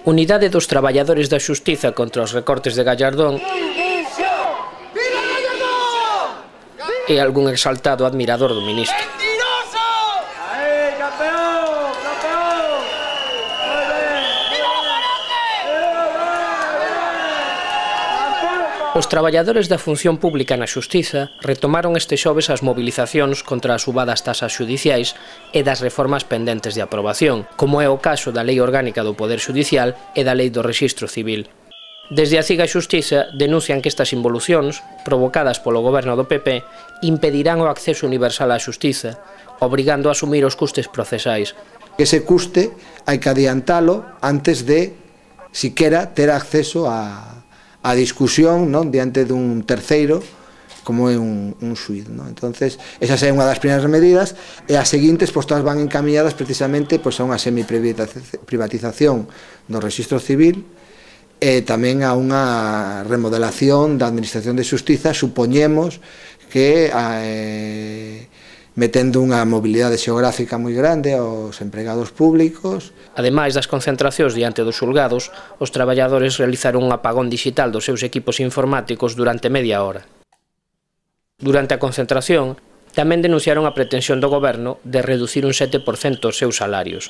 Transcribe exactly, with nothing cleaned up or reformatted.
Unidade dos traballadores da Xustiza contra os recortes de Gallardón e algún exaltado admirador do ministro. Os traballadores da función pública na Xustiza retomaron este xoves as mobilizacións contra as subadas tasas xudiciais e das reformas pendentes de aprobación, como é o caso da Lei Orgánica do Poder Xudicial e da Lei do Rexistro Civil. Desde a CIGA Xustiza denuncian que estas involucións, provocadas polo goberno do P P, impedirán o acceso universal á xustiza, obrigando a asumir os custes procesais. Ese custe hai que adiantalo antes de, siquera, ter acceso a a discusión, non, diante dun terceiro como é un, un xuíz, non? Entonces, esa é unha das primeiras medidas e as seguintes, pois, todas van encaminhadas precisamente pois, a unha semiprivatización do Rexistro Civil e tamén a unha remodelación da Administración de Xustiza, supoñemos que eh, metendo unha mobilidade xeográfica moi grande aos empregados públicos. Ademais das concentracións diante dos xulgados, os traballadores realizaron un apagón digital dos seus equipos informáticos durante media hora. Durante a concentración, tamén denunciaron a pretensión do goberno de reducir un sete por cento os seus salarios.